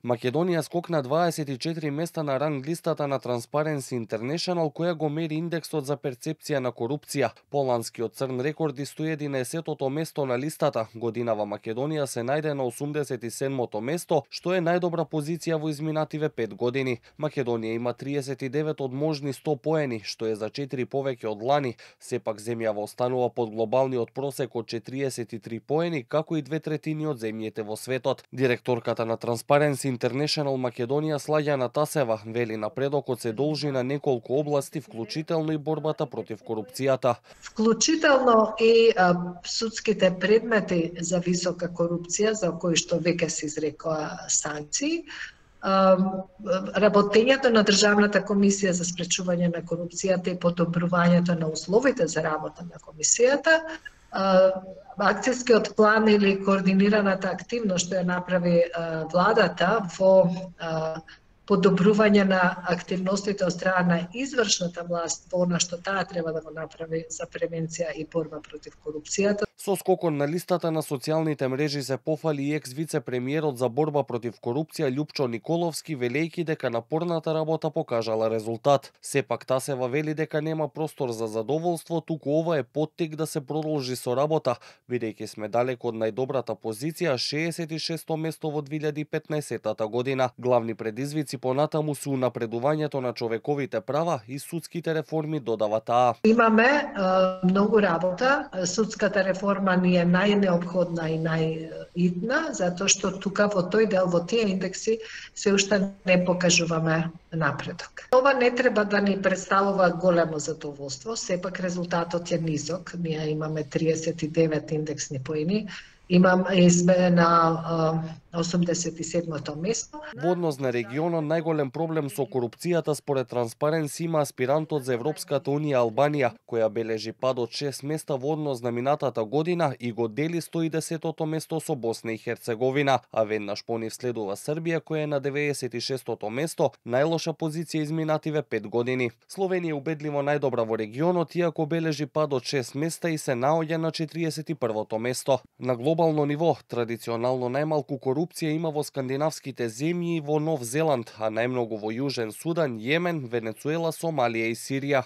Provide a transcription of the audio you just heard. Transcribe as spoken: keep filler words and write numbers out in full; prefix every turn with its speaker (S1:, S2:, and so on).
S1: Македонија скокна дваесет и четири места на ранг листата на Transparency International, која го мери индексот за перцепција на корупција. Поланскиот црн рекорд и сто и единаесеттото место на листата. Годинава Македонија се најде на осумдесет и седмото место, што е најдобра позиција во изминативе пет години. Македонија има триесет и девет од можни сто поени, што е за четири повеќе од лани. Сепак земјава останува под глобалниот просек од четириесет и три поени, како и две третини од земјите во светот. Директорката на Transparency International Македонија Слаѓана Тасева вели напредокот се должи на неколку области, вклучително и борбата против корупцијата.
S2: Вклучително и а, судските предмети за висока корупција, за кои што веќе се изрекоа санкции, а, работењето на Државната комисија за спречување на корупцијата и подобрувањето на условите за работа на комисијата, акцијскиот план или координираната активност што ја направи а, владата во а, подобрување на активностите од страна на извршната власт во она што таа треба да го направи за превенција и борба против корупцијата.
S1: Со скокон на листата на социјалните мрежи се пофали и екс вице-премиерот за борба против корупција Љупчо Николовски, велејќи дека напорната работа покажала резултат. Сепак Тасева вели дека нема простор за задоволство, туку ова е поттик да се продолжи со работа, бидејќи сме далеку од најдобрата позиција, шеесет и шесто место во две илјади и петнаесеттата година. Главни предизвици понатаму се унапредувањето на човековите права и судските реформи, додава таа.
S2: Имаме а, многу работа. Судската реформа ни е најнеопходна и најитна, затоа што тука во тој дел, во тие индекси, се уште не покажуваме напредок. Ова не треба да ни представува големо задоволство, сепак резултатот е низок. Ние имаме триесет и девет индексни поени, имам сме на осумдесет и седмото место.
S1: Во однос на регионот, најголем проблем со корупцијата според Transparency има аспирантот за Европската унија Албанија, која бележи пад од шест места во однос на минатата година и го дели сто и десетото место со Босна и Херцеговина, а веднаш по нив следува Србија, која е на деветдесет и шестото место, најлоша позиција изминативе пет години. Словенија е убедливо најдобра во регионот, иако бележи пад од шест места и се наоѓа на четириесет и првото место. На глобално ниво, традиционално најмалку корупција има во скандинавските земји и во Нов Зеланд, а најмногу во Јужен Судан, Јемен, Венецуела, Сомалија и Сирија.